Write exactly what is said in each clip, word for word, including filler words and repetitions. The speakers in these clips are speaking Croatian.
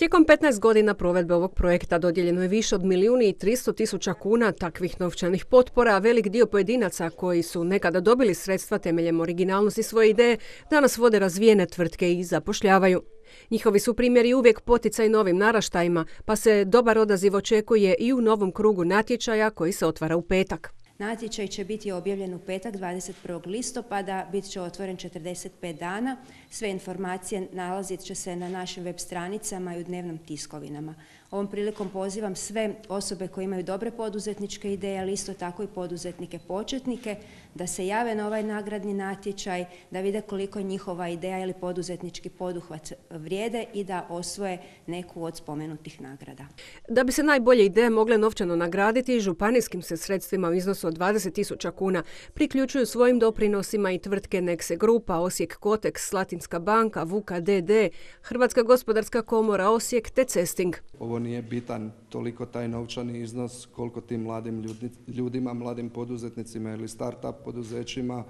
Tijekom petnaest godina provedbe ovog projekta dodijeljeno je više od milijun i tristo tisuća kuna takvih novčanih potpora, a velik dio pojedinaca koji su nekada dobili sredstva temeljem originalnosti svoje ideje danas vode razvijene tvrtke i zapošljavaju. Njihovi su primjeri uvijek poticaj novim naraštajima, pa se dobar odaziv očekuje i u novom krugu natječaja koji se otvara u petak. Natječaj će biti objavljen u petak dvadeset prvog listopada, bit će otvoren četrdeset pet dana. Sve informacije nalazit će se na našim web stranicama i u dnevnim tiskovinama. Ovom prilikom pozivam sve osobe koje imaju dobre poduzetničke ideje, ali isto tako i poduzetnike početnike, da se jave na ovaj nagradni natječaj, da vide koliko je njihova ideja ili poduzetnički poduhvat vrijede i da osvoje neku od spomenutih nagrada. Da bi se najbolje ideje mogle novčano nagraditi, županijskim se sredstvima u iznosu od dvadeset tisuća kuna priključuju svojim doprinosima i tvrtke Nexe Grupa, Osijek Koteks, Slatinska banka, Vuka D D, Hrvatska gospodarska komora Osijek te Cesting. Ovo nije bitan toliko taj novčani iznos koliko tim mladim ljudima, mladim poduzetnicima ili start-up poduzećima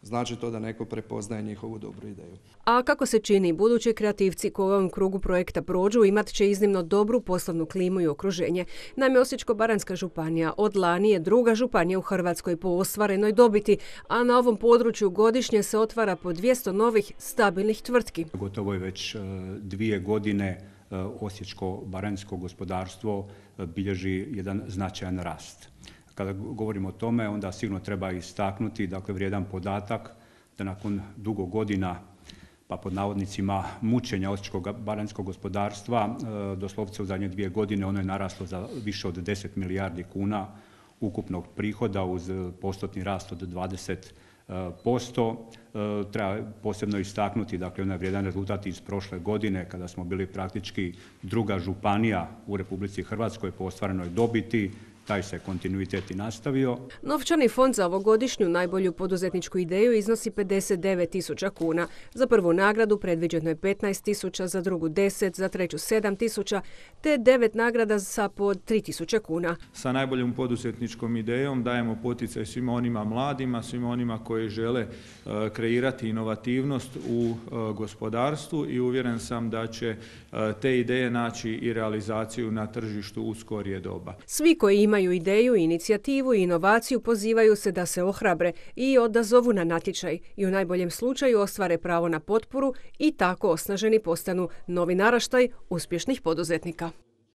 znači to da neko prepoznaje njihovu dobru ideju. A kako se čini, budući kreativci koji u ovom krugu projekta prođu imat će iznimno dobru poslovnu klimu i okruženje. Naime, Osječko-baranjska županija od lani je druga županija u Hrvatskoj po ostvarenoj dobiti, a na ovom području godišnje se otvara po dvjesto novih stabilnih tvrtki. Gotovo je već dvije godine osječko-baranjsko gospodarstvo bilježi jedan značajan rast. Kada govorimo o tome, onda sigurno treba istaknuti, dakle, vrijedan podatak da nakon dugo godina, pa pod navodnicima mučenja osječko-baranjskog gospodarstva, doslovce u zadnje dvije godine ono je naraslo za više od deset milijardi kuna ukupnog prihoda uz postotni rast od dvadeset posto. Treba posebno istaknuti, dakle, onaj vrijedan rezultat iz prošle godine kada smo bili praktički druga županija u Republici Hrvatskoj po ostvarenoj dobiti. Taj se kontinuitet i nastavio. Novčani fond za ovogodišnju najbolju poduzetničku ideju iznosi pedeset devet tisuća kuna. Za prvu nagradu predviđeno je petnaest tisuća, za drugu deset, za treću sedam tisuća, te devet nagrada sa po tri tisuće kuna. Sa najboljom poduzetničkom idejom dajemo poticaj svima onima mladima, svima onima koji žele uh, kreirati inovativnost u uh, gospodarstvu i uvjeren sam da će uh, te ideje naći i realizaciju na tržištu u skorije doba. Svi koji imaju ideju, inicijativu i inovaciju pozivaju se da se ohrabre i odazovu na natječaj i u najboljem slučaju ostvare pravo na potporu i tako osnaženi postanu novi naraštaj uspješnih poduzetnika.